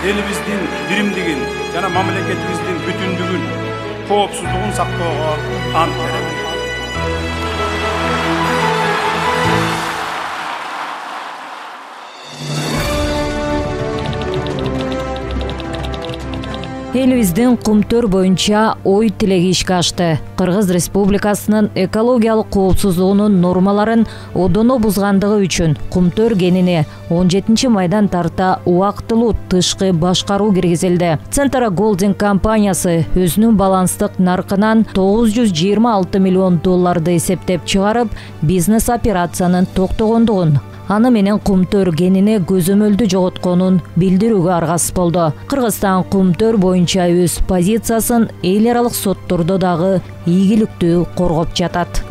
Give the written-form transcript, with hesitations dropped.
элибиздин биримдигин жана мамлекетибиздин бүтүндүгүн, коопсуздугун сактоого ант беребиз. Элибиздин Кумтөр боюнча ой тилеги ишке ашты. Кыргыз Республикасынын экологиялык коопсуздугунун нормаларын одоно бузгандыгы үчүн Кумтөр кенине 17 майдан тарта убактылуу тышкы башкаруу киргизилди. Центра Голдинг компаниясы өзүнүн баланстык наркынан $926 миллион эсептеп чыгарып, бизнес операциянын токтогондугун, аны менен Кумтөр кенине көзөмөлдү жоготконун билдирүүгө аргасыз болду. Кыргызстан Кумтөр боюнча өз позициясын эл аралык соттордо дагы ийгиликтүү коргоп жатат.